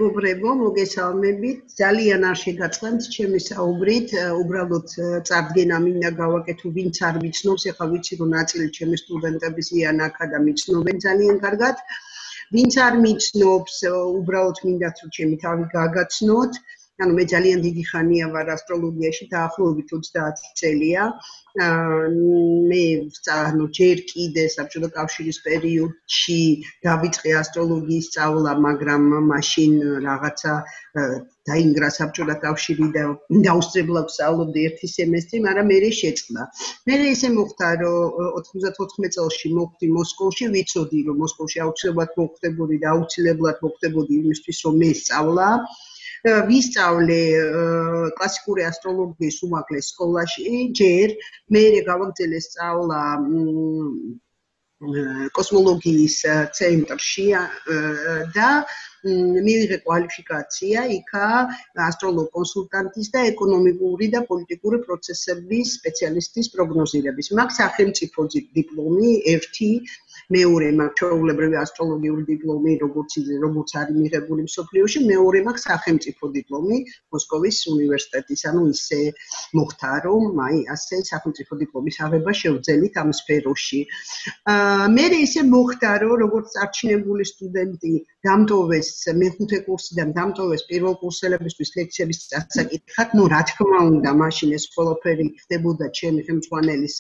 მეგობრებო, მოგესალმებით. ძალიან არ შეგაწყენთ ჩემი საუბრით, უბრალოდ წარდგენა მინდა გავაკეთო, ვინც არ ვიცნობს, ეხლა ვიცი რომ ნაწილი ჩემი სტუდენტების იან აქა და მიცნობენ ძალიან კარგად. ვინც არ მიცნობს, უბრალოდ მინდათ რომ ჩემი თავი გააგაცნოთ. ანუ მე ძალიან დიდი ხანია ვარ ასტროლოგიაში, დაახლოებით 30 წელია. მე ჯერ კიდე საბჭოთა კავშირის პერიოდში დავიწყე ასტროლოგიის სწავლა, მაგრამ მაშინ რაღაცა დაინგრა საბჭოთა კავშირი და დაუსწრებლად ვსწავლობდი ერთი სემესტრი, მაგრამ მე შეწყდა. მე ისე მოხდა, რომ 94 წელში მოვხდი მოსკოვში, ვიცოდი რომ მოსკოვში აუცილებლად მოხდებოდი და აუცილებლად მოხდებოდი იმისთვის რომ მე სწავლა. ვისწავლე კლასიკური ასტროლოგიის უმაღლეს სკოლაში, ჯერ მე გავაგრძელე სწავლა კოსმოლოგიის ცენტრში და მივიღე კვალიფიკაცია იქა ასტროლოგ კონსულტანტის და ეკონომიკური და პოლიტიკური პროცესების სპეციალისტის პროგნოზირების. მაქვს სახელმწიფო დიპლომი, ერთი მეორე მაქვს ჩვეულებრივი ასტროლოგიური დიპლომი, როგორც არის მიღებული მსოფლიოში, მეორე მაქვს სახელმწიფო დიპლომი მოსკოვის უნივერსიტეტის. ანუ ისე მოხდა, რომ ასე სახელმწიფო დიპლომის აღება შევძელით ამ სფეროში. მე ისე მოხდა, რომ როგორც წარჩინებული სტუდენტი დამტოვეს მეხუთე კურსიდან დამტოვეს პირველ კურსელებისთვის ლექციების დასაკითხად, ну, რა თქმა უნდა, მაშინ ეს ყველაფერი ხდებოდა ჩემი ხელმძღვანელის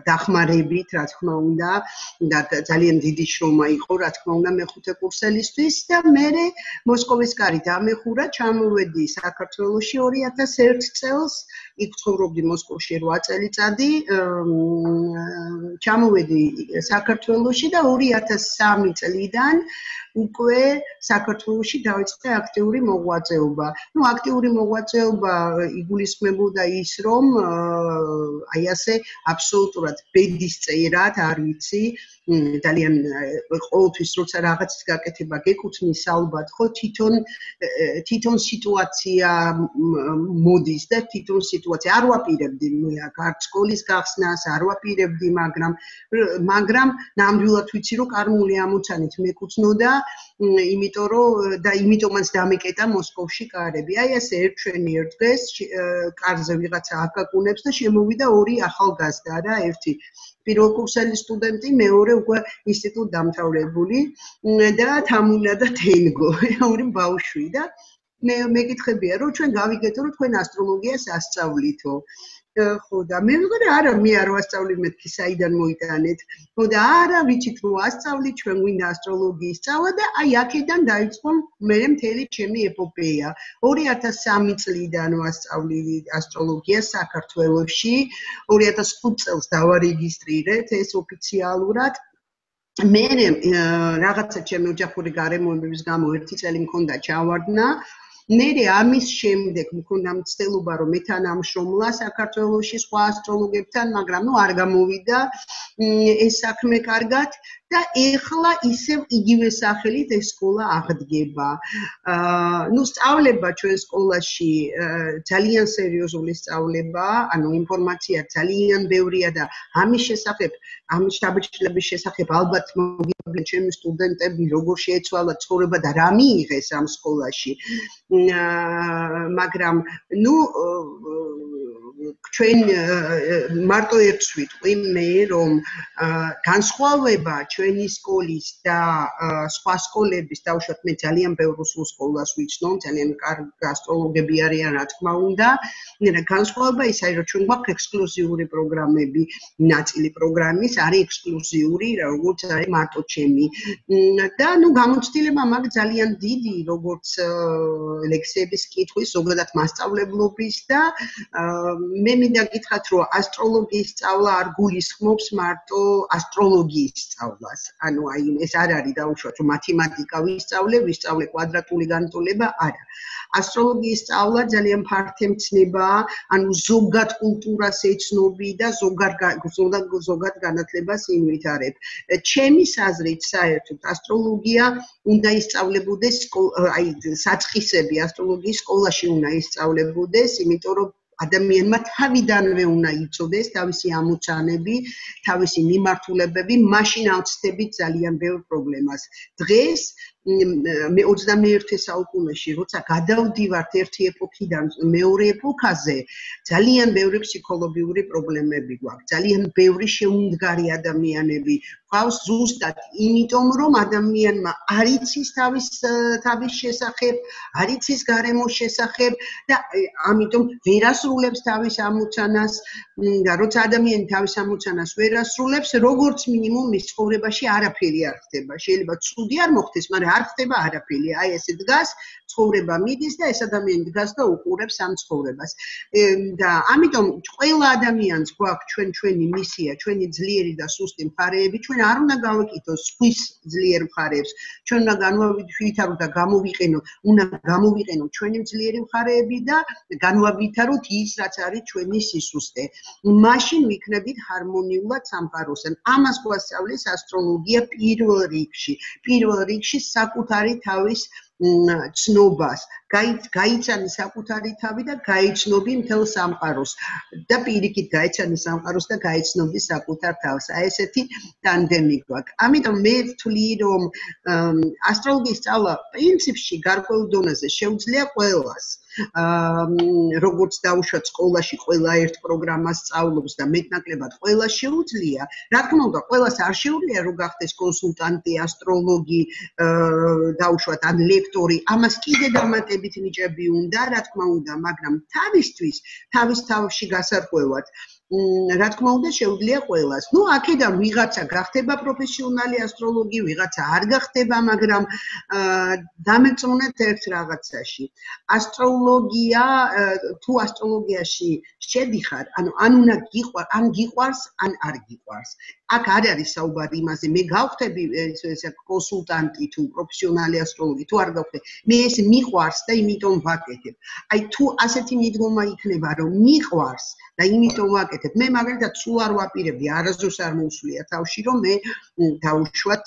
დახმარებით, რა თქმა უნდა, და ძალიან დიდი შრომა იყო, რა თქმა უნდა, მეხუთე კურსელისთვის და მე მოსკოვის კარი დამეხურა, ჩამოვედი საქართველოში 2001 წელს, იქ ცხოვრობდი მოსკოვში 8 წელიწადი, ჩამოვედი საქართველოში და 2003 წლიდან უკვე საქართველოში დავიწყე აქტიური მოღვაწეობა. ну, აქტიური მოღვაწეობა იგულისხმებოდა ის, რომ აი ასე აბსოლუტურად ბედის წერად, არ ვიცი, ძალიან ყოველთვის როცა რაღაცის გაკეთება გეკუთვნის ალბათ, ხო, თვითონ სიტუაცია მოდის და თვითონ სიტუაცია არ ვაპირებდი მე აქ სკოლის გახსნას, არ ვაპირებდი, მაგრამ ნამდვილად ვიცი, რომ კარმული ამოცანით მეკუთვნოდა, იმიტომ რომ და იმიტომაც დამეკეტა მოსკოვში კარები. აი ასე ერთშვენი ერთ დღეს კარზე ვიღაცა აკაკუნებს და შემოვიდა ორი ახალგაზრდა რა, ერთი პირველკურსელი სტუდენტი, მეორე უკვე ინსტიტუტ დამთავრებული და თამუნა და თენგო, ორი ბავშვი და მე მეკითხებია, რომ ჩვენ გავიგეთო, რომ თქვენ ასტროლოგიას ასწავლითო. ხო და მე ვიგე არა, მე არ ვასწავლი, მეთქი საიდან მოიტანეთ. ხო და არა, ვიცით რომ ასწავლი, ჩვენ გვინდა ასტროლოგიის სწავლა და აი აქედან დაიწყო მე მთელი ჩემი ეპოპეა. 2003 წლიდან ვასწავლი ასტროლოგიას საქართველოში, 2005 წელს დავარეგისტრირეთ ეს ოფიციალურად. მე რაღაცა ჩემი ოჯახური გარემოებების გამო 1 წელი მქონდა ჩავარდნა. მერე ამის შემდეგ მქონდა მცდელობა რომ მეთანამშრომლა საქართველოში სხვა ასტროლოგებთან, მაგრამ ნუ არ გამოვიდა ეს საქმე კარგად და ეხლა ისევ იგივე სახელით ეს სკოლა აღდგება. ნუ სწავლება ჩვენ სკოლაში ძალიან სერიოზული სწავლება, ანუ ინფორმაცია ძალიან ბევრია და ამის შესახებ, ამის შთაბეჭდილების შესახებ ალბათ მოგიყვნენ ჩემი სტუდენტები, როგორ შეეცვალა ცხოვრება და რა მიიღეს ამ სკოლაში. მაგრამ ნუ ჩვენ მარტო ერთს ვიტყვი მე რომ განსხვავება ჩვენი სკოლის და სხვა სკოლების, დავუშვათ მე ძალიან ბევრ რუსულ სკოლას ვიცნობ, ძალიან კარგი ასტროლოგები არიან, რა თქმა უნდა. განსხვავება ის არის, რომ ჩვენ გვაქვს ექსკლუზიური პროგრამები, ნაწილი პროგრამის არის ექსკლუზიური, როგორც არის მარტო ჩემი. და ნუ გამოცდილება მაგ ძალიან დიდი, როგორც ლექციების კითხვის, ზოგადად მასწავლებლობის და მე მინდა გითხრათ, რომ ასტროლოგიის სწავლა არ გულისხმობს მარტო ასტროლოგიის სწავლას. ანუ აი ეს არ არის დაუშვათ, რომ მათემატიკა ვისწავლე კვადრატული განტოლება, არა. ასტროლოგიის სწავლა ძალიან ფართემცნებაა, ანუ ზოგად კულტურას ეცნობი და ზოგად განათლებას ინვითარებ. ჩემი საზრით საერთოდ ასტროლოგია უნდა ისწავლებოდეს აი საწყისები ასტროლოგიის სკოლაში უნდა ისწავლებოდეს, იმიტომ რომ ადამიანმა თავიდანვე უნდა იცოდეს თავისი ამოცანები, თავისი მიმართულებები, მაშინ ავწდებით ძალიან ბევრ პრობლემას. დღეს მე 21 საუკუნეში როცა გადავდივართ ერთი ეპოქიდან მეორე ეპოქაზე ძალიან ბევრი ფსიქოლოგიური პრობლემები გვაქვს ძალიან ბევრი შეუმდგარი ადამიანები გვყავს ზუსტად იმიტომ რომ ადამიანმა არ იცის თავის შესახებ არ იცის გარემოს შესახებ და ამიტომ ვერ ასრულებს თავის ამოცანას და როცა ადამიანი თავის ამოცანას ვერ ასრულებს როგორც მინიმუმ მის ცხოვრებაში არაფერი არ ხდება შეიძლება ცუდი არ მოხდეს მაგრამ არ ხდება არაფერი აი ესე დგას ცხოვრება მიდის და ეს ადამიანი დგას და უყურებს ამ ცხოვრებას და ამიტომ ყველა ადამიანს გვაქვს ჩვენი მისია ჩვენი ძლიერი და სუსტი მხარეები ჩვენ არ უნდა გავაკეთოს სხვის ძლიერ მხარეებს ჩვენ უნდა განვავითაროთ და უნდა გამოვიყენოთ ჩვენი ძლიერი მხარეები და განვავითაროთ ის რაც არის ჩვენი სისუსტე მაშინ ვიქნებით ჰარმონიულად სამყაროსთან ამას გვასწავლის ასტროლოგია პირველ რიგში საკუთარი თავის ცნობას გაიცანი საკუთარი თავი და გაიცნობი მთელ სამყაროს და პირიქით გაიცანი სამყაროს და გაიცნობი საკუთარ თავს აი ესეთი ტანდემი გვაქვს ამიტომ მე ვთვლი რომ ასტროლოგიის სწავლა პრინციპში გარკვეულ დონეზე შეუძლია ყველას როგორც დაუშვათ სკოლაში ყველა ერთ პროგრამას სწავლობს და მეტნაკლებად ყველა შეუძლია რა თქმა უნდა ყველას არ შეუძლია რომ გახდეს კონსულტანტი ასტროლოგი დაუშვათ ან ლექტორი ამას კიდე დამატებით ნიჭები უნდა რა თქმა უნდა მაგრამ თავის თავში გასარკვევად რა თქმა უნდა შეუძლია ყველას ნუ აქედან ვიღაცა გახდება პროფესიონალი ასტროლოგი ვიღაცა არ გახდება მაგრამ დამეწონეთ ერთ რაღაცაში ასტროლოგია თუ ასტროლოგიაში შედიხარ ანუ ან უნდა გიყვარს ან არ გიყვარს აქ არ არის საუბარი იმაზე მე გავხდები კონსულტანტი თუ პროფესიონალი ასტროლოგი თუ არ გავხდები მე ეს მიყვარს და იმიტომ ვაკეთებ აი თუ ასეთი მიდგომა იქნება რომ მიყვარს და იმიტომ ვაკეთებ მე მაგალითად სულ არ ვაპირებდი არასდროს არ მოусვია თავში რომ მე დაუშვათ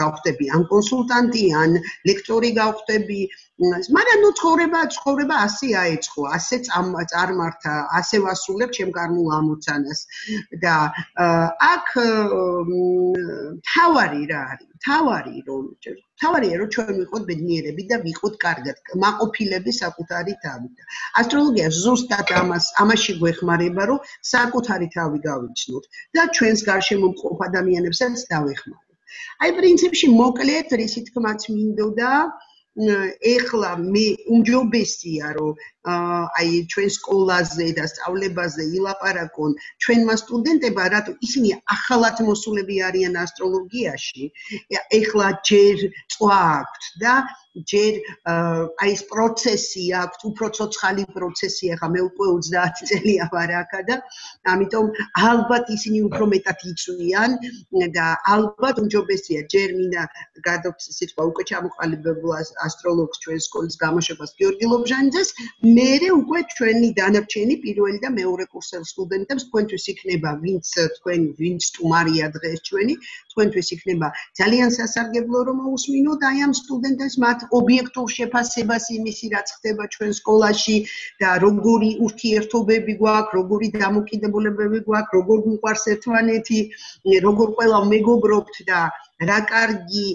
გავხდები ან კონსულტანტი ან ლექტორი გავხდები მაგრამ ნუ ცხოვრება ასე აეწყო ასე წარმართა ასე ვასრულებ ჩემ კარმულ ამოცანას და აქ თავარია რომ ჩვენ ვიყოთ ბედნიერები და ვიყოთ კარგად მაყოფილები საკუთარი თავით ასტროლოგია ზუსტად ამაში გვეხმარება რომ საკუთარი თავი გავიცნოთ და ჩვენს გარშემო მყოფ ადამიანებსაც დავეხმაროთ აი პრინციპში მოკლედ რისი თქმაც მინდოდა ეხლა მე უმჯობესია რომ აი ჩვენ სკოლაზე და სწავლებაზე ილაპარაკონ ჩვენმა სტუდენტებმა რატო ისინი ახალად მოსულები არიან ასტროლოგიაში ეხლა ჯერ წვა აქვთ და ჯერ აი ეს პროცესი აქვთ უფრო ცოცხალი პროცესი ახლა მე უკვე 30 წელია ვარ აქა და ამიტომ ალბათ ისინი უფრო მეტად იწვიან და ალბათ უმჯობესია ჯერ მინდა გადავწყვეტ სიტყვა უკვე ჩამოყალიბებულ ასტროლოგს ჩვენ სკოლის გამოშვებას გიორგი ლობჟანიძეს მერე უკვე ჩვენი დანარჩენი პირველი და მეორე კურსელ სტუდენტებს თქვენთვის იქნება ვინც სტუმარია დღეს ჩვენი თქვენთვის იქნება ძალიან სასარგებლო რომ მოусმინოთ აი ამ სტუდენტებს მათ ობიექტურ შეფასებას იმისი რაც ხდება ჩვენ სკოლაში და როგორი ურთიერთობები გვაქვს როგორი დამოკიდებულებები გვაქვს როგორ გვიყვარს ერთმანეთი როგორ ყველა მეგობრობთ და რა კარგი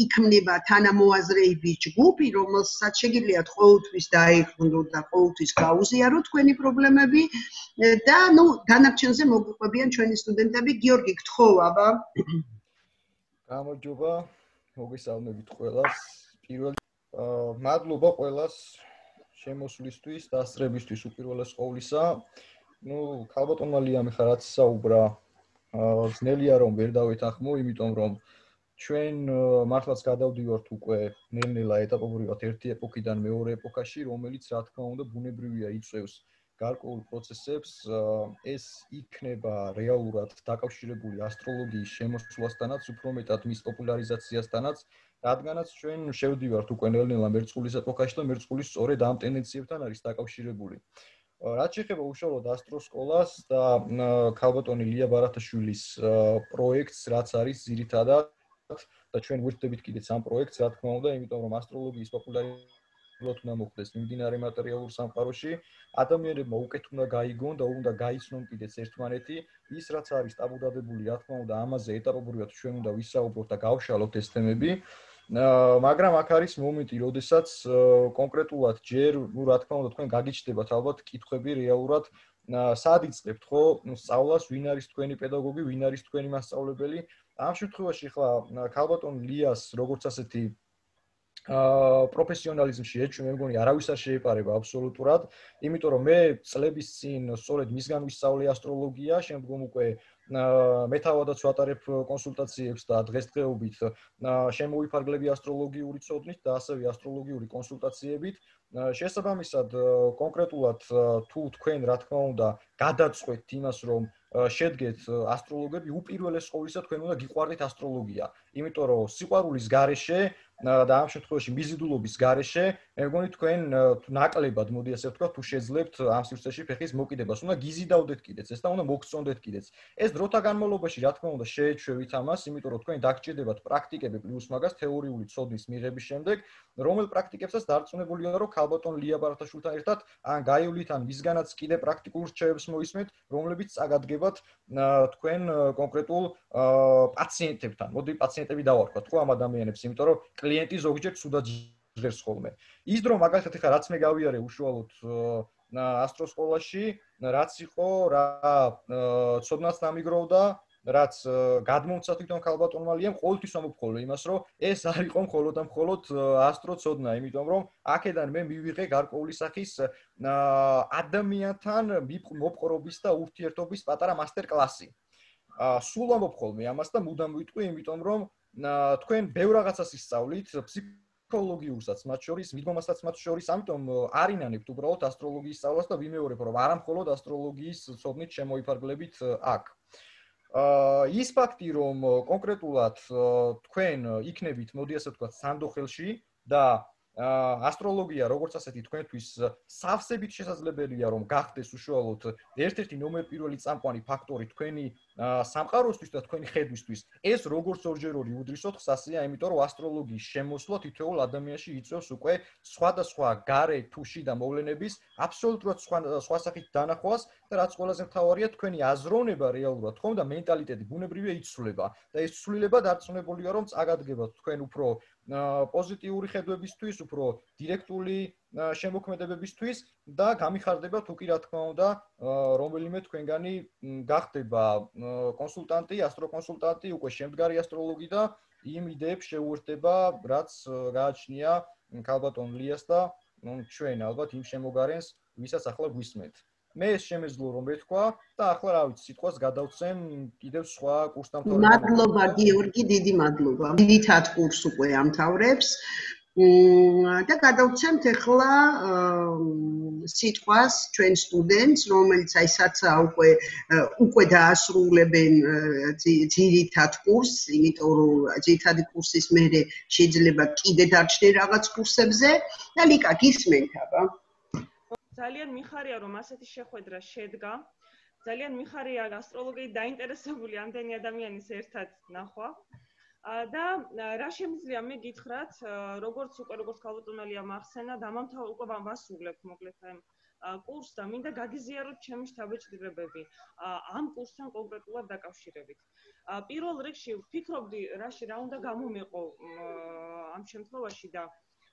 იქნება თანამოაზრეების ჯგუფი, რომელსაც შეგიძლიათ ყოველთვის დაეხმაროთ და ყოველთვის გაუზიაროთ თქვენი პრობლემები და ნუ დანარჩენზე მოგიყვებიან ჩვენი სტუდენტები. გიორგი, გთხოვა. გამარჯობა, მოგესალმებით ყველას. პირველ მადლობა ყველას შემოსვლისთვის, დასწრებისთვის უპირველეს ყოვლისა. ნუ ქალბატონმა ლიამი ხარაც საუბრა ძნელია რომ ვერ დავეთანხმო, იმიტომ რომ ჩვენ მართლაც გადავდივართ უკვე ნელ-ნელა ეტაპობრივად ერთი ეპოქიდან მეორე ეპოქაში, რომელიც რა თქმა უნდა ბუნებრივია იწევს გარკვეულ პროცესებს, ეს იქნება რეალურად დაკავშირებული ასტროლოგიის შემოსვლასთანაც, უფრო მეტად მის პოპულარიზაციასთანაც, რადგანაც ჩვენ შევდივართ უკვე ნელ-ნელა მერწყულის ეპოქაში და მერწყული სწორედ ამ ტენდენციებთან არის დაკავშირებული. რაც შეეხება უშუალოდ ასტროსკოლას და ქალბატონი ლია ბარათაშვილის პროექტს, რაც არის ძირითადად და ჩვენ ვირთდებით კიდეც ამ პროექტს, რა თქმა უნდა, იმიტომ რომ ასტროლოგიის პოპულარიზაცია უნდა მოხდეს მიმდინარე მატერიალურ სამყაროში, ადამიანებმა უკეთ უნდა გაიგონ და უნდა გაიცნონ კიდეც ერთმანეთი, ის რაც არის ტაბუდადებული, რა თქმა უნდა, ამაზე ეტაპობრივად ჩვენ უნდა ვისაუბროთ და გავშალოთ ეს თემები. მაგრამ აქ არის მომენტი, როდესაც კონკრეტულად ჯერ, რა თქმა უნდა, თქვენ გაგიჩნდებათ ალბათ კითხვები რეალურად სად იწყებთ ხო სწავლას, ვინ არის თქვენი პედაგოგი, ვინ არის თქვენი მასწავლებელი? ამ შემთხვევაში ხლა ქალბატონ ლიას როგორც ასეთი პროფესიონალიზმში ეჭვი მე მგონი არავის არ შეეპარება აბსოლუტურად, იმიტომ რომ მე წლების წინ სწორედ მისგან ვისწავლე ასტროლოგია, შემდგომ უკვე მეთავადაც ვატარებ კონსულტაციებს და დღესდღეობით შემოვიფარგლები ასტროლოგიური ცოდნით და ასევე ასტროლოგიური კონსულტაციებით. შესაბამისად, კონკრეტულად თუ თქვენ რა თქმა უნდა გადაწყვეტთ იმას, რომ შედგეთ ასტროლოგები, უპირველეს ყოვლისა თქვენ უნდა გიყვარდეთ ასტროლოგია, იმიტომ რომ სიყვარულის გარეშე და ამ შემთხვევაში მიზიდულობის გარეშე, მე მგონი თქვენ ნაკლებად, მოდი ასე ვთქვა, თუ შეძლებთ ამ სივრცეში ფეხის მოკიდებას, უნდა გიზიდავდეთ კიდეც ეს და უნდა მოგწონდეთ კიდეც. ეს დროთა განმავლობაში, რა თქმა უნდა, შეეჩვევით ამას, იმიტომ რომ თქვენ დაგჭირდებათ პრაქტიკები პლუს მაგას თეორიული ცოდნის მიღების შემდეგ, რომელ პრაქტიკებსაც დარწმუნებულია, რომ ქალბატონ ლია ბარათაშვილთან ერთად ან გაივლით, ან მისგანაც კიდე პრაქტიკულ რჩევებს მოისმენთ, რომლებიც წაგადგებათ თქვენ კონკრეტულ პაციენტებთან. მოდი პაციენტები დავარქვათ ხო ამ ადამიანებს, იმიტომ რომ კლიენტი ზოგჯერ ცუდად ჟღერს ხოლმე. ის დრო მაგალითად ეხლა რაც მე გავიარე უშუალოდ ასტროსკოლაში, რაც იყო რა ცოდნაც დამიგროვდა, რაც გადმომცა თვითონ ქალბატონმა ლიამ, ყოველთვის ამბობ იმას, რომ ეს არ იყო მხოლოდ და მხოლოდ ასტროცოდნა, იმიტომ რომ აქედან მე მივიღე გარკვეული სახის ადამიანთან მოპყრობის და ურთიერთობის პატარა მასტერკლასი. სულ ამბობ ხოლმე ამას და მუდამ ვიტყვი, იმიტომ რომ თქვენ ბევრ რაღაცას ისწავლით, ფსიქოლოგიურსაც მათ შორის, მიდგომასაც მათ შორის, ამიტომ არინანებთ უბრალოდ ასტროლოგიის სწავლას და ვიმეორებ, რომ არა მხოლოდ ასტროლოგიის ცოდნით შემოიფარგლებით აქ. ის ფაქტი, რომ კონკრეტულად თქვენ იქნებით, მოდი ასე ვთქვათ, სანდოხელში და ასტროლოგია როგორც ასეთი თქვენთვის სავსებით შესაძლებელია რომ გახდეს უშუალოდ ერთ-ერთი ნომერ პირველი წამყვანი ფაქტორი თქვენი სამყაროსთვის და თქვენი ხედვისთვის. ეს როგორც ორჯერორი უდრისოთ ხსასია, იმიტომ რომ ასტროლოგიის შემოსვლა თითოეულ ადამიანში იწვევს უკვე სხვადასხვა გარე თუ შიდა მოვლენების აბსოლუტურად სხვა სახით დანახვას და რაც ყველაზე მთავარია, თქვენი აზროვნება რეალურად ხომ და მენტალიტეტი ბუნებრივია იცვლება და ეს ცვლილება დარწმუნებულია რომ წაგადგებათ თქვენ უფრო პოზიტიური ხედვებისთვის, უფრო დირექტული შემოქმედებებისთვის და გამიხარდება თუ კი რა თქმა უნდა რომელიმე თქვენგანი გახდება კონსულტანტი, ასტროკონსულტანტი, უკვე შემდგარი ასტროლოგი და იმ იდეებს შეუერთდება, რაც გააჩნია ქალბატონ ლიას და ჩვენ ალბათ იმ შემოგარენს, ვისაც ახლა გვისმენთ. მე ეს შემეძლო რომ ვეთქვა და ახლა რა ვიცი, სიტყვას გადავცემ კიდევ სხვა კურსდამთავრებთან. მადლობა გიორგი, დიდი მადლობა. დიდად კურს უკვე ამთავრებს. და გადავცემთ ახლა სიტყვას ჩვენ სტუდენტს, რომელიც აი საცა უკვე დაასრულებენ ძირითად კურსს, იმიტომ რომ ძირითადი კურსის მერე შეიძლება კიდე დარჩნენ რაღაც კურსებზე და ლიკა გისმენთ აბა. ძალიან მიხარია რომ ასეთი შეხვედრა შედგა. ძალიან მიხარია ასტროლოგიით დაინტერესებული ამდენი ადამიანის ერთად ნახვა. და რა შემიძლია მე გითხრათ, როგორც ქალბატონ ლიამ ახსენა, უკვე ვასრულებთ მოკლედ კურსს და მინდა გაგიზიაროთ ჩემი შთაბეჭდილებები ამ კურსთან კონკრეტულად დაკავშირებით. პირველ რიგში ვფიქრობდი, რა უნდა გამომეყო ამ შემთხვევაში და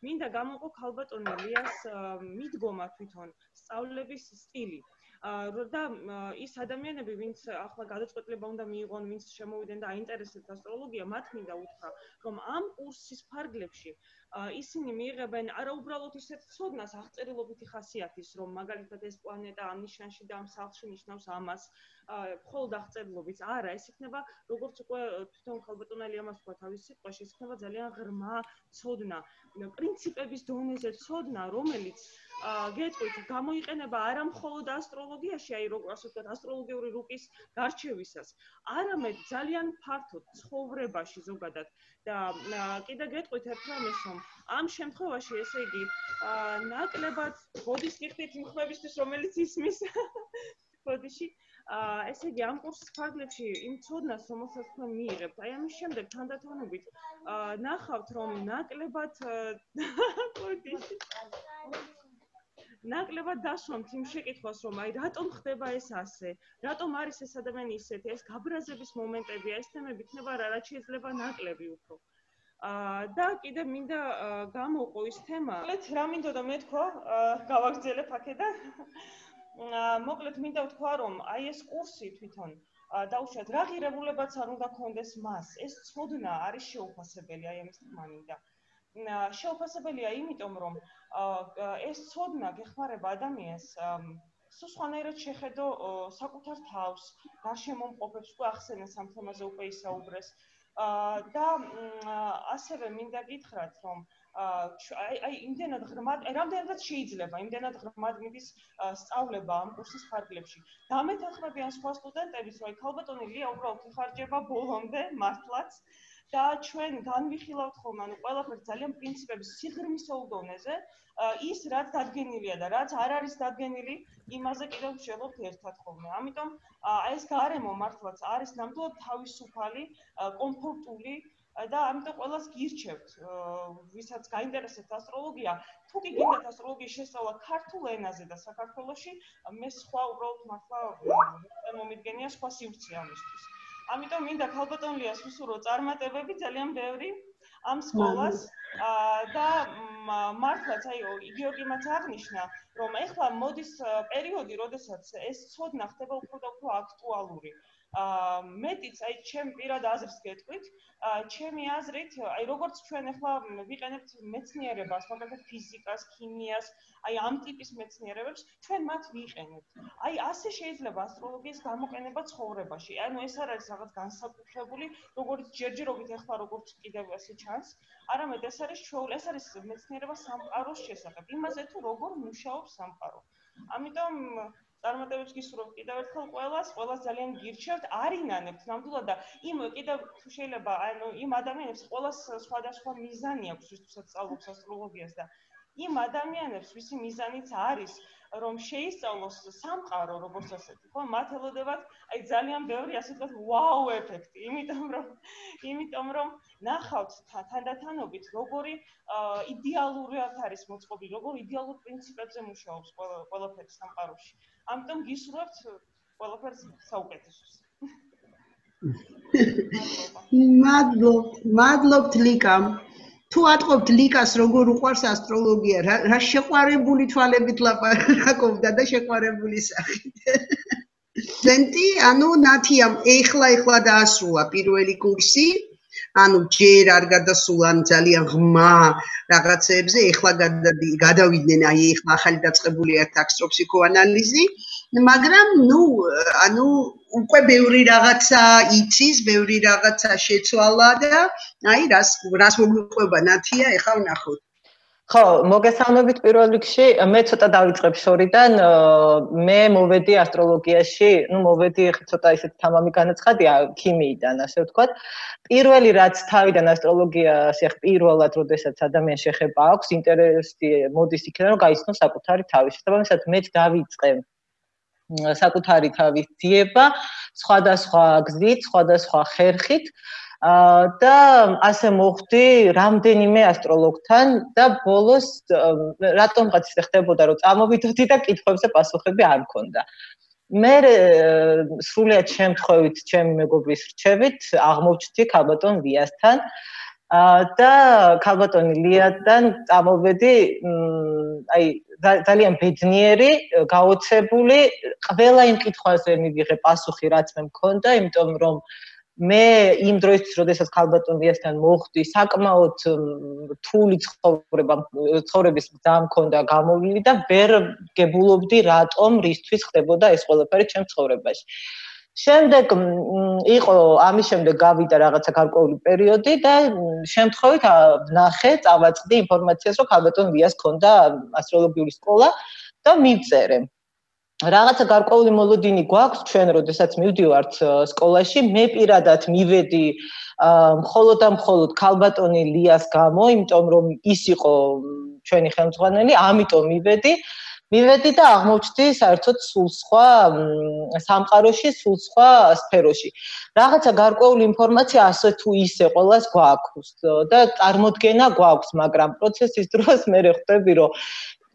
მინდა გამოყო ქალბატონ ლიას მიდგომა თვითონ სწავლების სტილი. და ის ადამიანები, ვინც ახლა გადაწყვეტილება უნდა მიიღონ, ვინც შემოვიდნენ და აინტერესებთ ასტროლოგია, მათ მინდა უთხრა, რომ ამ კურსის ფარგლებში ისინი მიიღებენ არა უბრალოდ ისეთ ცოდნას აღწერილობითი ხასიათის, რომ მაგალითად ეს პლანეტა ამ ნიშანში და ამ სახლში ნიშნავს ამას, მხოლოდ აღწერილობით. არა, ეს იქნება, როგორც უკვე თვითონ ქალბატონ ლიამ თქვა თავის სიტყვაში, ეს იქნება ძალიან ღრმა ცოდნა, პრინციპების დონეზე ცოდნა, რომელიც გეტყვით, გამოიყენება არა მხოლოდ ასტროლოგიაში, აი როგორც ვთქვათ, ასტროლოგიური რუკის გარჩევისას, არამედ ძალიან ფართოდ ცხოვრებაში ზოგადად. და კიდე გეტყვით ერთ რამეს, რომ ამ შემთხვევაში, ესე იგი, ნაკლებად ბოდიშს გიხდით იმ ხმებისთვის, რომელიც ისმის ბოდიში. ესე იგი, ამ კურსის ფარგლებში იმ ცოდნას, რომელსაც თქვენ მიიღებთ, აი ამის შემდეგ თანდათანობით ნახავთ, რომ ნაკლებად ბოდიში ნაკლებად დასვამთ იმ შეკითხვას, რომ აი რატომ ხდება ეს ასე? რატომ არის ეს ადამიანი ისეთი? ეს გაბრაზების მომენტებია, ეს თემები იქნება რაც შეიძლება ნაკლები უფრო. და კიდე მინდა გამოვყო ის თემა. რა მინდოდა მეთქვა, გავაგრძელებ აქედან. მოკლედ მინდა ვთქვა, რომ აი ეს კურსი თვითონ დაუშვათ რა ღირებულებაც არ უნდა კონდეს მას. ეს ცოდნა არის შეუფასებელი, აი ამის თქმა მინდა. შეუფასებელია იმიტომ, რომ ეს ცოდნა გეხმარება ადამიანს სულ სხვანაირად შეხედო საკუთარ თავს, გარშემო მყოფებს, უკვე ახსენეს ამ თემაზე უკვე ისაუბრეს. და ასევე მინდა გითხრათ, რომ აი იმდენად ღრმად, რამდენადაც შეიძლება, იმდენად ღრმად მიდის სწავლება ამ კურსის ფარგლებში. დამეთანხმებიან სხვა სტუდენტების, რომ ქალბატონი ლია უბრალოდ იხარჯება ბოლომდე მართლაც და ჩვენ განვიხილავთ ხოლმე, ანუ ყველაფერს ძალიან პრინციპების სიღრმისეულ დონეზე, ის რაც დადგენილია და რაც არ არის დადგენილი, იმაზე კიდევ ვშევობთ ერთად ხოლმე. ამიტომ აი ეს გარემო მართლაც არის ნამდვილად თავისუფალი, კომფორტული და ამიტომ ყველას გირჩევთ, ვისაც გაინტერესებთ ასტროლოგია, თუ კი გინდათ ასტროლოგიის შესწავლა ქართულ ენაზე და საქართველოში, მე სხვა უბრალოდ მართლა მომიდგენია სხვა სივრცე ამისთვის. ამიტომ მინდა ქალბატონ ლიას ვისურვო წარმატებები ძალიან ბევრი ამ სკოლას და მართლაც აი გიორგიმაც აღნიშნა, რომ ეხლა მოდის პერიოდი, როდესაც ეს ცოდნა ხდება უფრო და უფრო აქტუალური. მეტიც აი ჩემ პირად აზრს გეტყვით, ჩემი აზრით, აი როგორც ჩვენ ახლა ვიყენებთ მეცნიერებას, მაგალითად ფიზიკას, ქიმიას, აი ამ ტიპის მეცნიერებებს, ჩვენ მათ ვიყენებთ. აი ასე შეიძლება ასტროლოგიის გამოყენება ცხოვრებაში. ანუ ეს არ არის რაღაც განსაკუთრებული, როგორც ჯერჯერობით ახლა როგორც კიდევ ასე ჩანს, არამედ ეს არის ეს არის მეცნიერება სამყაროს შესახებ, იმაზე თუ როგორ მუშაობს სამყარო. ამიტომ წარმატებებს გისურვებთ კიდევ ერთხელ ყველას ძალიან გირჩევთ, არინანებთ ნამდვილად და იმ კიდევ თუ შეიძლება ანუ იმ ადამიანებს ყველას სხვადასხვა მიზანი აქვს, ვისაც სწავლობს ასტროლოგიას და იმ ადამიანებს, ვისი მიზანიც არის, რომ შეისწავლოს სამყარო როგორც ასეთი, ხო? მათ ელოდებათ აი ძალიან ბევრი ასე ვთქვათ ვაუ ეფექტი, იმიტომ რომ ნახავთ თანდათანობით როგორი იდეალურად არის მოწყობილი, როგორ იდეალურ პრინციპებზე მუშაობს ყველაფერი სამყაროში. ამიტომ გისურვებთ ყველაფერს საუკეთესოს. მადლობთ ლიკა. თუ ატყობთ ლიკას როგორ უყვარს ასტროლოგია, რა შეყვარებული თვალებით ლაპარაკობდა და შეყვარებული სახით. სტუდენტი, ანუ ნათიამ ეხლა დაასრულა პირველი კურსი. ანუ ჯერ არ გადასულა ძალიან ღრმა რაღაცებზე, ეხლა გადავიდნენ, აი ეხლა ახალი დაწყებულია ტაქსტოფსიქოანალიზი, მაგრამ ანუ უკვე ბევრი რაღაცა იცის, ბევრი რაღაცა შეცვალა და აი რას მოგვიყვება ნათია, ეხლა ვნახოთ. ხო, მოგესალმებით პირველ რიგში, მე ცოტა დავიწყებ შორიდან, მე მოვედი ასტროლოგიაში, მოვედი ცოტა ისეთ თამამი განაცხადია ქიმიიდან, ასე ვთქვათ. პირველი რაც თავიდან ასტროლოგიაში პირველად, როდესაც ადამიანს შეხება აქვს, ინტერესი მოდის იქიდან, რომ გაიცნოს საკუთარი თავი. შესაბამისად, მეც დავიწყე საკუთარი თავის ძიება, სხვადასხვა გზით, სხვადასხვა ხერხით. და ასე მოხდი რამდენიმე ასტროლოგთან და ბოლოს რატომღაც ისე ხდებოდა რომ წამოვიდოდი და კითხვებზე პასუხები არ მქონდა. მე სრულიად შემთხვევით ჩემი მეგობრის რჩევით აღმოჩნდი ქალბატონ ლიასთან და ქალბატონი ლიასთან წამოვედი აი ძალიან ბედნიერი, გაოცებული, ყველა იმ კითხვაზე მივიღე პასუხი რაც მე მქონდა, იმიტომ რომ მე იმ დროისთვის, როდესაც ქალბატონ ლიასთან მოხვდი, საკმაოდ რთული ცხოვრების გზა მქონდა გამოვლილი და ვერ გებულობდი რატომ, რისთვის ხდებოდა ეს ყველაფერი ჩემს ცხოვრებაში. შემდეგ იყო ამის შემდეგ გავიდა რაღაცა გარკვეული პერიოდი და შემთხვევით ვნახე, წავაწყდი ინფორმაციას, რომ ქალბატონ ლიას ჰქონდა ასტროლოგიური სკოლა და მივწერე. რაღაცა გარკვეული მოლოდინი გვაქვს ჩვენ, როდესაც მივდივართ სკოლაში, მე პირადად მივედი მხოლოდ და მხოლოდ ქალბატონი ლიას გამო, იმიტომ რომ ის იყო ჩვენი ხელმძღვანელი, ამიტომ მივედი და აღმოჩნდი საერთოდ სულ სხვა სამყაროში, სულ სხვა სფეროში. რაღაცა გარკვეული ინფორმაცია ასე თუ ისე ყველას გვაქვს და წარმოდგენა გვაქვს, მაგრამ პროცესის დროს მე ხვდები, რომ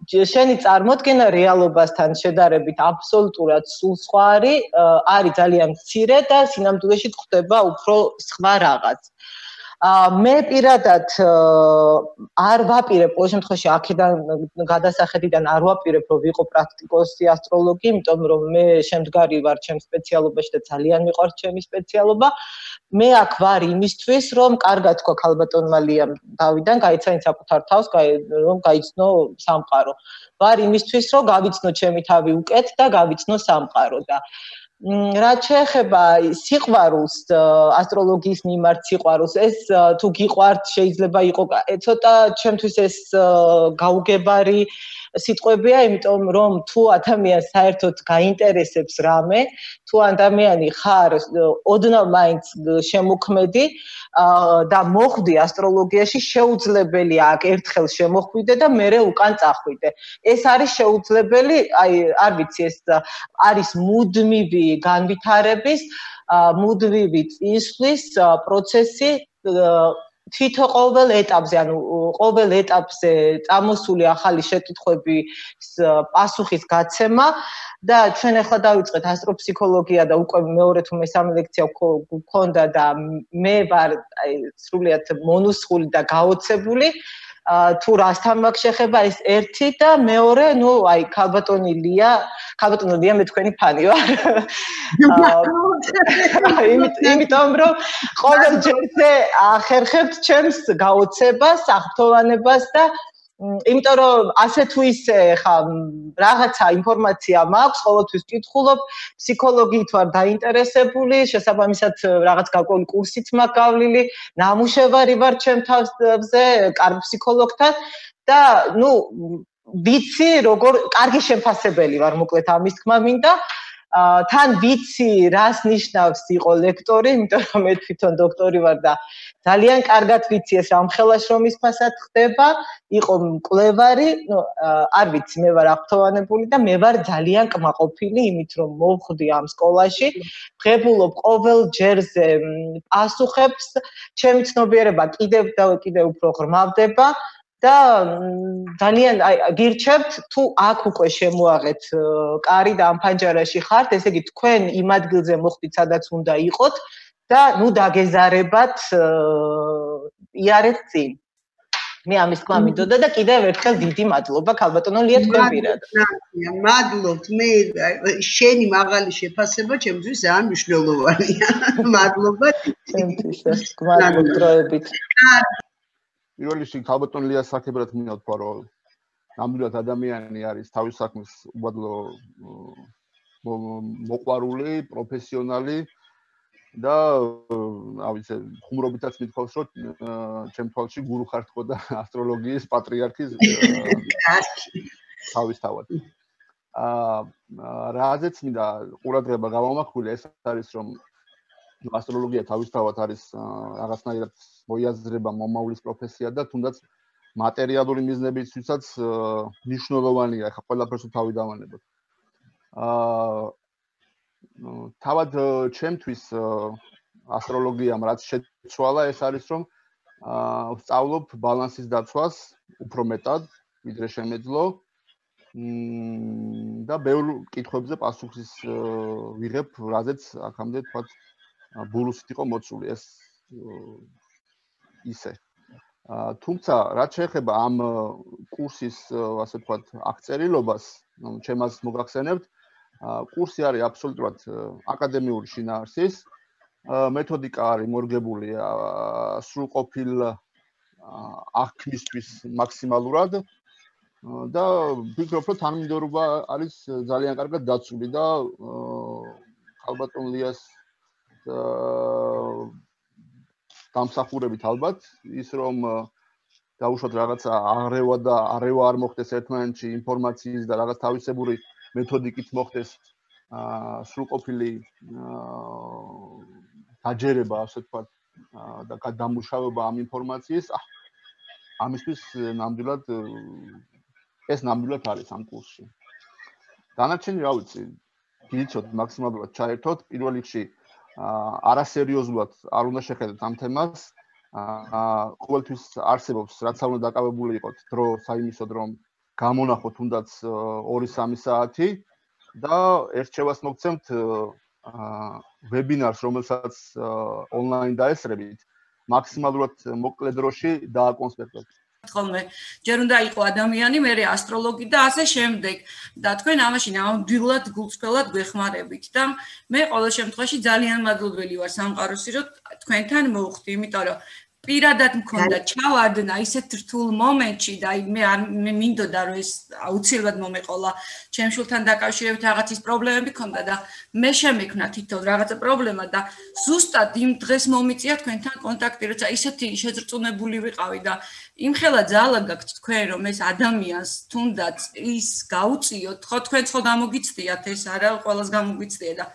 შენი წარმოდგენა რეალობასთან შედარებით აბსოლუტურად სულ სხვა არის ძალიან მცირე და სინამდვილეში გვხდება უფრო სხვა რაღაც. მე პირადად არ ვაპირებ ყოველ შემთხვევაში აქედან გადასახედიდან არ ვაპირებ რომ ვიყო პრაქტიკოსი ასტროლოგი, იმიტომ რომ მე შემდგარი ვარ ჩემს სპეციალობაში და ძალიან მიყვარს ჩემი სპეციალობა. მე აქ ვარ იმისთვის, რომ კარგად თქვა ქალბატონმა ლიამ დავიდან, გაიცანით საკუთარ თავს, რომ გაიცნო სამყარო. ვარ იმისთვის, რომ გავიცნო ჩემი თავი უკეთ და გავიცნო სამყარო და რაც შეეხება სიყვარულს, ასტროლოგიის მიმართ სიყვარულს, ეს თუ გიყვართ, შეიძლება იყო ცოტა ჩემთვის ეს გაუგებარი სიტყვებია, იმიტომ რომ თუ ადამიანს საერთოდ გაინტერესებს რამე, თუ ადამიანი ხარ ოდნავ მაინც შემოქმედი და მოხვდი ასტროლოგიაში, შეუძლებელია აქ ერთხელ შემოხვიდე და მერე უკან წახვიდე. ეს არის შეუძლებელი, არ ვიცი, ეს არის მუდმივი განვითარების, მუდმივი წინსვლის პროცესი თვითონ ყოველ ეტაპზე, ანუ ყოველ ეტაპზე წამოსული ახალი შეკითხვების პასუხის გაცემა და ჩვენ ახლა დავიწყეთ ასტროფსიქოლოგია და უკვე მეორე თუ მესამე ლექცია გქონდა და მე ვარ სრულიად მონუსხული და გაოცებული თუ რასთან მაქვს შეხება ეს ერთი და მეორე, ნუ აი ქალბატონი ლია მე თქვენი ფანი ვარ. იმიტომ რომ ყოველ ჯერზე ახერხებთ ჩემს გაოცებას, აღფრთოვანებას და იმიტომ რომ ასე თუ ისე ხა რაღაცა ინფორმაცია მაქვს, ყოველთვის ვკითხულობ, ფსიქოლოგიით ვარ დაინტერესებული, შესაბამისად რაღაც გარკვეული კურსით მაქვს გავლილი, ნამუშევარი ვარ ჩემ თავზე, კარგ ფსიქოლოგთან და ნუ ვიცი როგორ კარგი შეფასებელი ვარ, მოკლედ ამის თქმა მინდა. თან ვიცი რას ნიშნავს იყო ლექტორი, იმიტომ რომ მე თვითონ დოქტორი ვარ და ძალიან კარგად ვიცი ეს რამხელა შრომის ფასად ხდება, იყო მკვლევარი, არ ვიცი, მე ვარ აღფრთოვანებული და მე ვარ ძალიან კმაყოფილი იმით, რომ მოვხვდი ამ სკოლაში, ვღებულობ ყოველ ჯერზე პასუხებს, ჩემი ცნობიერება კიდევ და კიდევ უფრო ღრმავდება. და ძალიან გირჩევთ თუ აქ უკვე შემოაღეთ კარი და ამ ფანჯარაში ხართ, ესე იგი თქვენ იმ ადგილზე მოხვდით, სადაც უნდა იყოთ და ნუ დაგეზარებათ იარეთ წინ. მე ამის თქმა მინდოდა და კიდევ ერთხელ დიდი მადლობა ქალბატონო ლია თქვენ პირად. მადლობთ, მე შენი მაღალი შეფასება ჩემთვის ძალიან მნიშვნელოვანია. მადლობა. ჩემთვის მადლობა დროებით. პირველ რიგში ქალბატონ ლიას საკებრად მინდა ვთქვა, რომ ნამდვილად ადამიანი არის თავის საქმის უბადლო მოყვარული, პროფესიონალი და ავიცე ხუმრობითაც მithავს, რომ ჩემ თვალში გურუ ხარ თქო და ასტროლოგიის პატრიარქის თავისთავად. რაზეც მინდა ყურადღება გავამახვილე, ეს არის რომ ასტროლოგია თავისთავად არის რაღაცნაირად მოიაზრება მომავლის პროფესია და თუნდაც მატერიალური მიზნებისთვისაც მნიშვნელოვანია, ახლა ყველაფერს თავი დავანებოთ. თავად ჩემთვის ასტროლოგიამ რაც შეცვალა, ეს არის რომ ვსწავლობ ბალანსის დაცვას უფრო მეტად, ვიდრე შემეძლო და ბევრ კითხვებზე პასუხის ვიღებ, რაზეც აქამდე თქვა ბურუსით იყო მოცული ეს ისე. თუმცა რაც შეეხება ამ კურსის, ასე ვთქვათ, აღწერილობას, ჩემს მოგახსენებთ, კურსი არის აბსოლუტურად აკადემიური შინაარსის, მეთოდიკა არის მორგებული სრულყოფილ აღქმისთვის მაქსიმალურად და ვფიქრობ, რომ თანმიმდევრობა არის ძალიან კარგად დაცული და ქალბატონ ליას დამსახურებით ალბათ ის რომ დაუშვათ რაღაცა აღრევა და არევა არ მოხდეს ერთმანეთში ინფორმაციის და რაღაც თავისებური მეთოდიკით მოხდეს სრულყოფილი დაჯერება, ასე ვთქვათ, და გადამუშავება ამ ინფორმაციის, ამისთვის ნამდვილად ეს ნამდვილად არის ამ კურსში. დანარჩენი რა ვიცი, გიცოთ მაქსიმალურად ჩაერთოთ, პირველ რიგში არასერიოზულად არ უნდა შეხედოთ ამ თემას. ყოველთვის არსებობს, რაც არ უნდა დაკავებული იყოთ დრო საიმისოდ, რომ გამონახო თუნდაც 2-3 საათი და ერთჩევას მოგცემთ ვებინარს, რომელსაც ონლაინ დაესწრებით, მაქსიმალურად მოკლე დროში დააკონსპექტოთ. ხოლმე ჯერ უნდა იყო ადამიანი, მერე ასტროლოგი და ასე შემდეგ. და თქვენ ამაში ნამდვილად გულწრფელად გვეხმარებით და მე ყოველ შემთხვევაში ძალიან მადლობელი ვარ სამყაროსი, რომ თქვენთან მოვხდი, იმიტომ რომ პირადად მქონდა ჩავარდნა ისეთ რთულ მომენტში და მე მინდოდა რომ ეს აუცილებლად მომეყოლა ჩემ შულთან დაკავშირებით რაღაცის პრობლემები ქონდა და მე შემექმნა თითოეულ რაღაცა პრობლემა და ზუსტად იმ დღეს მომიწია თქვენთან კონტაქტი, როცა ისეთი შეძრწუნებული ვიყავი და იმხელა ძალა გაქვთ თქვენ რომ ეს ადამიანს თუნდაც ის გაუწიოთ, ხო თქვენ ხო გამოგიცდიათ ეს არა ყველას გამოგვიცდია და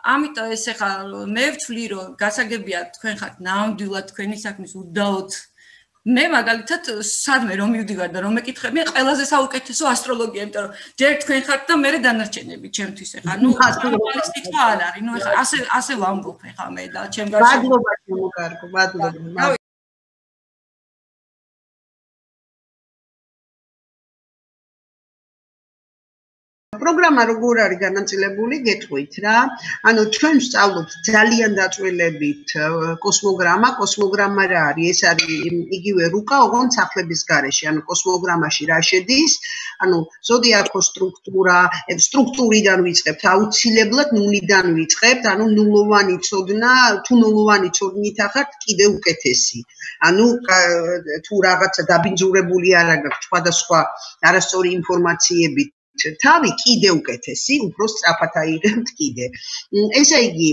ამიტომ ეს ახლა მე ვთვლი რომ გასაგებია თქვენ ხართ ნამდვილად თქვენი საქმის უდაოდ მე მაგალითად სადმე რომ მივდივარ და რომ მეკითხები მე ყველაზე საუკეთესო ასტროლოგია იმიტომ რომ ჯერ თქვენ ხართ და მე დანარჩენები ჩემთვის ახლა ნუ ეს თქმა არ არის ნუ ახლა ასე ვამბობ ახლა მე და ჩემ გარშემო მადლობა შემოგარგო მადლობა პროგრამა როგორ არის განაწილებული, გეტყვით რა. ანუ ჩვენ ვსწავლობთ ძალიან დაწვრილებით კოსმოგრამა. კოსმოგრამა რა არის? ეს არის იგივე რუკა, ოღონდ სახლების გარეშე. ანუ კოსმოგრამაში რა შედის? ანუ ზოდიაქოს სტრუქტურიდან ვიწყებთ, აუცილებლად ნულიდან ვიწყებთ, ანუ ნულოვანი ცოდნა, თუ ნულოვანი ცოდნით ახართ, კიდე უკეთესი. ანუ თუ რაღაცა დაბინძურებული არ აქვს სხვადასხვა არასწორი ინფორმაციებით თავი კიდე უკეთესი, უფრო სწრაფად აიღებთ კიდე. ესე იგი,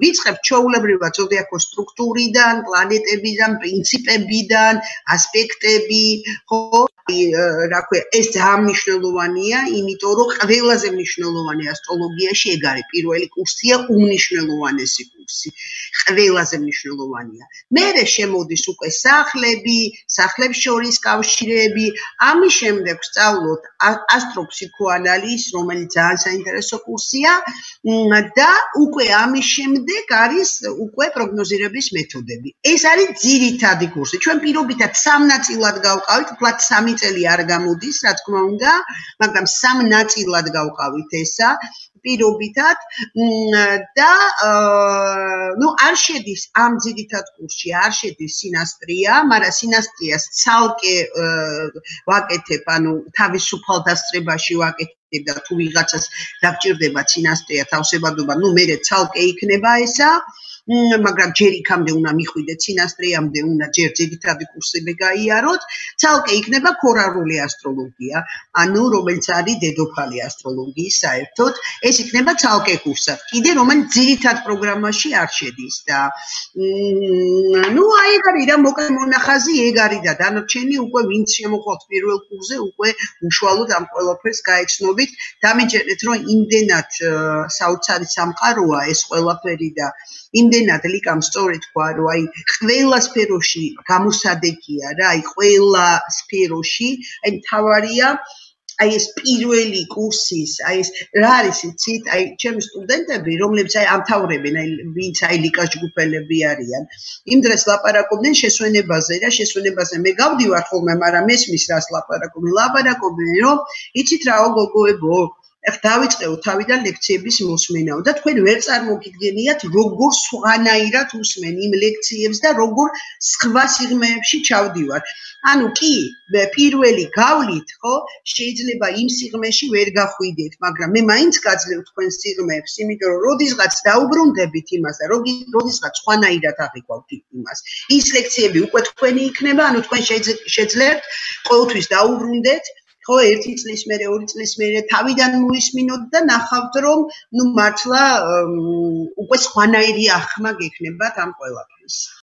ვიწყებთ ჩვეულებრივად ზოდიაქოს სტრუქტურიდან, პლანეტებიდან, პრინციპებიდან, ასპექტები, ხო? რა ქვია, ეს ძალიან მნიშვნელოვანია, იმიტომ რომ ყველაზე მნიშვნელოვანი ასტროლოგიაში ეგ არის. პირველი კურსია უმნიშვნელოვანესი კურსი. ყველაზე მნიშვნელოვანია. მერე შემოდის უკვე სახლები, სახლებს შორის კავშირები, ამის შემდეგ ვსწავლობთ ასტროფსიქოანალიზს, რომელიც ძალიან საინტერესო კურსია და უკვე ამის შემდეგ არის უკვე პროგნოზირების მეთოდები. ეს არის ძირითადი კურსი. ჩვენ პირობითად 3 ნაწილად გავყავით, უბრალოდ 3 წელი არ გამოდის, რა თქმა უნდა, მაგრამ 3 ნაწილად გავყავით ესა. პირობითად და ნუ არ შედის ამ ძირითად კურსში, არ შედის სინასტრია, მაგრამ სინასტრიას ცალკე ვაკეთებ, ანუ თავისუფალ დასწრებაში ვაკეთებ და თუ ვიღაცას დაგჭირდება სინასტრია თავსებადობა, ნუ მე ცალკე იქნება ესა. მაგრამ ჯერ იქამდე უნდა მიხვიდეთ სინასტრიამდე, უნდა ჯერ ძირითადი კურსები გაიაროთ, ცალკე იქნება ქორალური ასტროლოგია, ანუ რომელიც არის დედოფალი ასტროლოგიის საერთოდ, ეს იქნება ცალკე კურსად, კიდე რომელიც ძირითად პროგრამაში არ შედის და ნუ აი ეგ არის რა მოკლე მონახაზი ეგ არის და დანარჩენი უკვე ვინც შემოხვალთ პირველ კურსზე უკვე უშუალოდ ამ ყველაფერს გაეცნობით, დამიჯერეთ რომ იმდენად საოცარი სამყაროა ეს ყველაფერი და იმდენად ლიკამ სწორედ თქვა, რომ აი ყველა სფეროში გამოსადეგია რა, აი ყველა სფეროში, აი თავარია აი ეს პირველი კურსის, აი ეს რა არის იცით, აი ჩემი სტუდენტები, რომლებიც აი ამთავრებენ, აი ვინც აი ლიკას ჯგუფელები არიან, იმ დღეს ლაპარაკობდნენ შესვენებაზე რა, შესვენებაზე მე გავდივარ ხოლმე, მაგრამ მესმის რას ლაპარაკობდნენ, რომ იცით რაო გოგოებო ეხ დავიწყეო თავიდან ლექციების მოსმენაო და თქვენ ვერ წარმოგიდგენიათ როგორ სხვანაირად უსმენ იმ ლექციებს და როგორ სხვა სიღრმეებში ჩავდივარ. ანუ კი პირველი გავლით, ხო, შეიძლება იმ სიღრმეში ვერ გახვიდეთ, მაგრამ მე მაინც გაძლევ თქვენ სიღრმეებს, იმიტომ რომ როდისღაც დაუბრუნდებით იმას და როდისღაც სხვანაირად აღიქვავთ იმას. ის ლექციები უკვე თქვენი იქნება, ანუ თქვენ შეძლებთ ყოველთვის დაუბრუნდეთ ხო, 1 წლის მერე, 2 წლის მერე თავიდან მოისმინოთ და ნახავთ, რომ ნუ მართლა უკვე სხვანაირი ახმა გექნებათ ამ ყველაფრის.